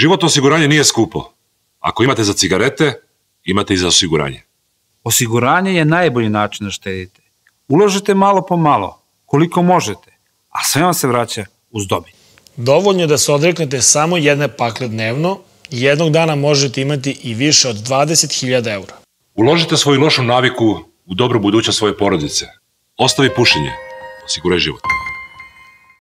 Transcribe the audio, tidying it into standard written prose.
Životno osiguranje nije skupo. Ako imate za cigarete, imate i za osiguranje. Osiguranje je najbolji način da štedite. Uložite malo po malo, koliko možete, a sve vam se vraća uz dobit. Dovoljno je da se odreknete samo jedne pakle dnevno i jednog dana možete imati i više od 20.000 eura. Uložite svoju lošu naviku u dobru budućnost svoje porodice. Ostavi pušenje. Osiguraj život.